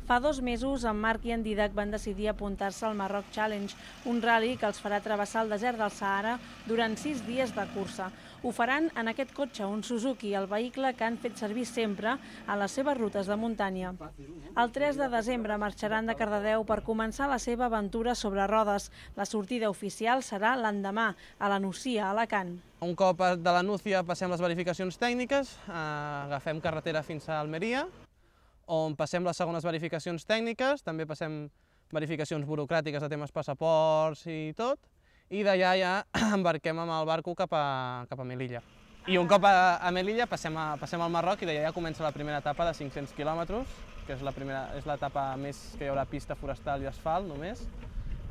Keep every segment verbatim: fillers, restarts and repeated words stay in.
Fa dos mesos, en Marc i en Dídac van decidir apuntar-se al Marroc Challenge, un ral·li que els farà travessar el desert del Sàhara durant sis dies de cursa. Ho faran en aquest cotxe, un Suzuki, el vehicle que han fet servir sempre a les seves rutes de muntanya. El tres de desembre marxaran de Cardedeu per començar la seva aventura sobre rodes. La sortida oficial serà l'endemà, a la Nucia, a Alacant. Un cop de la Nucia passem les verificacions tècniques, agafem carretera fins a Almeria, on passem les segones verificacions tècniques, també passem verificacions burocràtiques de temes passaports i tot, i d'allà ja embarquem amb el barco cap a, cap a Melilla. I un cop a, a Melilla passem, a, passem al Marroc i d'allà ja comença la primera etapa de cinc-cents quilòmetres, que és la primera, és l'etapa més que hi haurà pista forestal i asfalt només,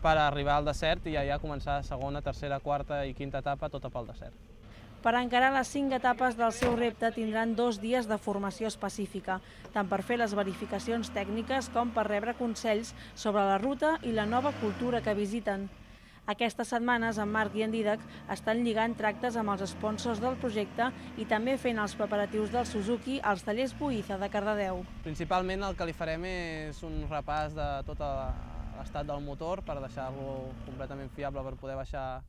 per arribar al desert i ja començar segona, tercera, quarta i quinta etapa, tota pel desert. Per encarar les cinc etapes del seu repte tindran dos dies de formació específica, tant per fer les verificacions tècniques com per rebre consells sobre la ruta i la nova cultura que visiten. Aquestes setmanes, en Marc i en Dídac estan lligant tractes amb els sponsors del projecte i també fent els preparatius del Suzuki als tallers Buiza de Cardedeu. Principalment el que li farem és un repàs de tot l'estat del motor per deixar-lo completament fiable per poder baixar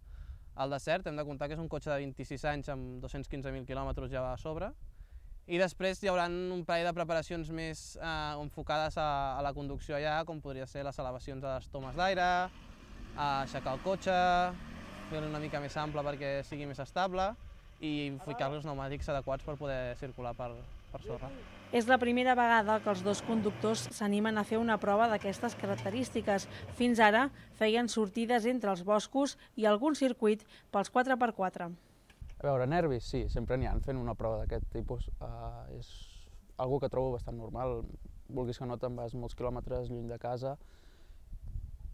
al desert. Hem de comptar que és un cotxe de vint-i-sis anys amb dos-cents quinze mil quilòmetres ja a sobre. I després hi haurà un parell de preparacions més eh, enfocades a, a la conducció allà, com podria ser les elevacions de les tomes d'aire, aixecar el cotxe, fer-lo una mica més ample perquè sigui més estable i ficar-li els pneumàtics adequats per poder circular per, per sorra. És la primera vegada que els dos conductors s'animen a fer una prova d'aquestes característiques. Fins ara feien sortides entre els boscos i algun circuit pels quatre per quatre. A veure, nervis, sí, sempre n'hi ha fent una prova d'aquest tipus. Uh, és algo que trobo bastant normal. Vulguis que no, te'n vas molts quilòmetres lluny de casa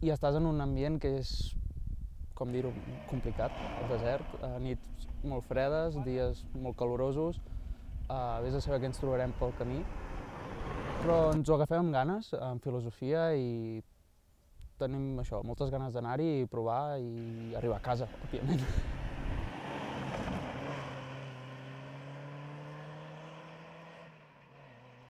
i estàs en un ambient que és, com dir-ho, complicat, el desert, uh, nits molt fredes, dies molt calorosos. Uh, vés a saber què ens trobarem pel camí, però ens ho agafem amb ganes, amb filosofia, i tenim això, moltes ganes d'anar-hi i provar i arribar a casa, òbviament.